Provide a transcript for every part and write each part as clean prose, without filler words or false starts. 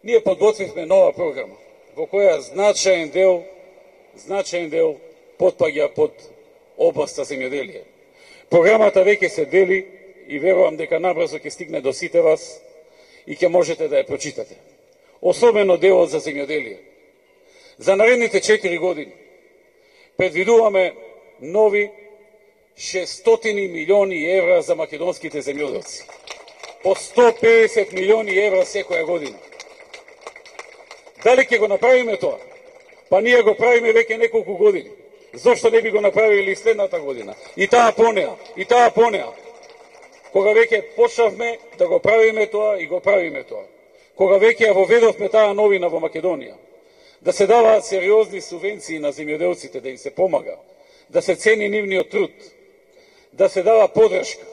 Ние подготвивме нова програма, во која значаен дел потпаѓа под областа земјоделие. Програмата веќе се дели и верувам дека набрзо ќе стигне до сите вас и ќе можете да ја прочитате. Особено делот за земјоделие. За наредните 4 години предвидуваме нови 600 милиони евра за македонските земјоделци. По 150 милиони евра секоја година. Дали ќе го направиме тоа? Па ние го правиме веќе неколку години. Зошто не би го направили следната година? И таа понеа. Кога веќе почнавме да го правиме тоа и го правиме тоа. Кога веќе ја воведовме таа новина во Македонија. Да се даваат сериозни субвенции на земјоделците, да им се помага. Да се цени нивниот труд. Да се дава поддршка.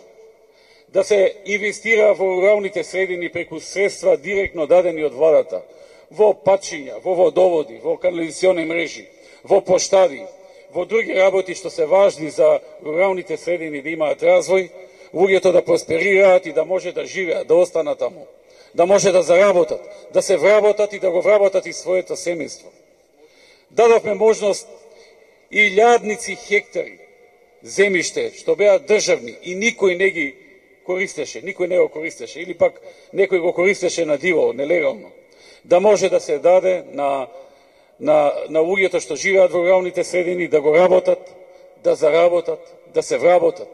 Да се инвестира во руралните средини преку средства директно дадени од владата. Во патчиња, во водоводи, во канализациони мрежи, во поштади, во други работи што се важни за руралните средини да имаат развој, луѓето да просперираат и да може да живеат, да останат таму, да може да заработат, да се вработат и да го вработат и своето семејство. Дадовме можност илјадници хектари земјиште што беа државни и никој не ги користеше, никој не го користеше или пак некој го користеше на диво, нелегално, да може да се даде на луѓето што живеат во руралните средини, да го работат, да заработат, да се вработат.